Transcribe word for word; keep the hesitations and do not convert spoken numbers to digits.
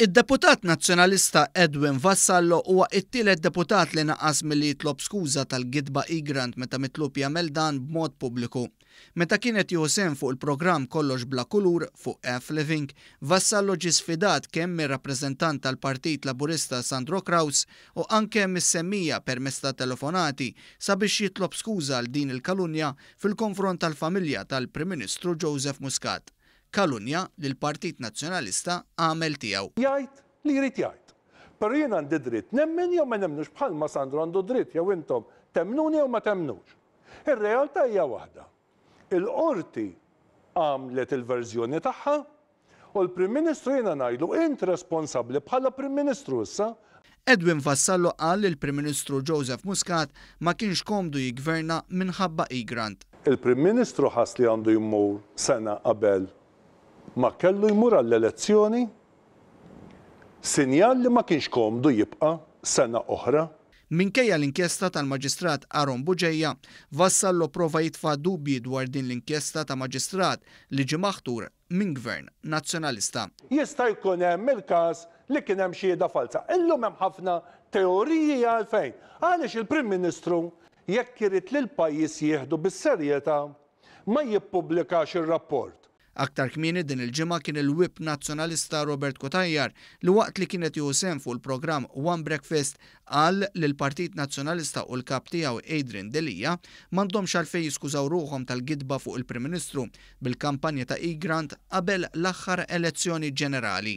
Id-deputat Nazzjonalista Edwin Vassallo huwa t-tielet deputat li naqas milli jitlob skuża tal-gidba Egrant meta mitlub jagħmel dan b'mod pubbliku. Meta kien qed jieħu sehem fuq il-programm Kollox Bla Kulur fuq F Living, Vassallo ġie sfidat kemm mir-rappreżentant tal-Partit Laburista Sandro Craus u anke mis-semmiegħa permezz ta' telefonati sabiex jitlob skuża għal din il-kalunja fil-konfront tal-familja tal-Prim Ministru Joseph Muscat. Kalunja li l-Partit Nazzjonalista għamel tiegħu. Jgħid li jrid jgħid. Però jien għandi dritt nemmen jew ma nemmnux, bħalma Sandro għandu dritt jew intom temmnuni jew ma temmnux. Ir-realtà hija waħda. Il-qorti għamlet il-verżjoni tagħha u l-Prim Ministru, jiena ngħidlu, int responsabbli bħala Prim Ministru issa. Edwin Vassallo qal li l-Prim Ministru Joseph Muscat ma kienx komdu jigverna minħabba Egrant. Il-Prim Ministru ħass li għandu jmur sena qabel ma kellu jmur għall-elezzjoni, sinjal li ma kienx komdu jibqa' sena oħra. Minkejja l-inkjesta tal-Maġistrat Aaron Bugeja, Vassallo prova jitfa' dubji dwar din l-inkjesta ta' maġistrat li ġie maħtur minn gvern Nazzjonalista. Jista' jkun hemm il-każ li kien hemm xhieda falsa. Illum hemm ħafna teoriji għalfejn. Għaliex il-Prim Ministru, jekk irid li l-pajjiż jieħdu bis-serjetà, ma jippubblikax ir-rapport? Aktar kmieni din il-ġimgħa kien il-Whip Nazzjonalista Robert Cutajar li waqt li kien qed jieħu sehem fuq il-programm One Breakfast qal li l-Partit Nazzjonalista u l-kap tiegħu Adrian Delia m'għandhomx għalfejn jiskużaw ruħhom tal-gidba fuq il-Prim Ministru bil-kampanja ta' Egrant qabel l-aħħar elezzjoni ġenerali.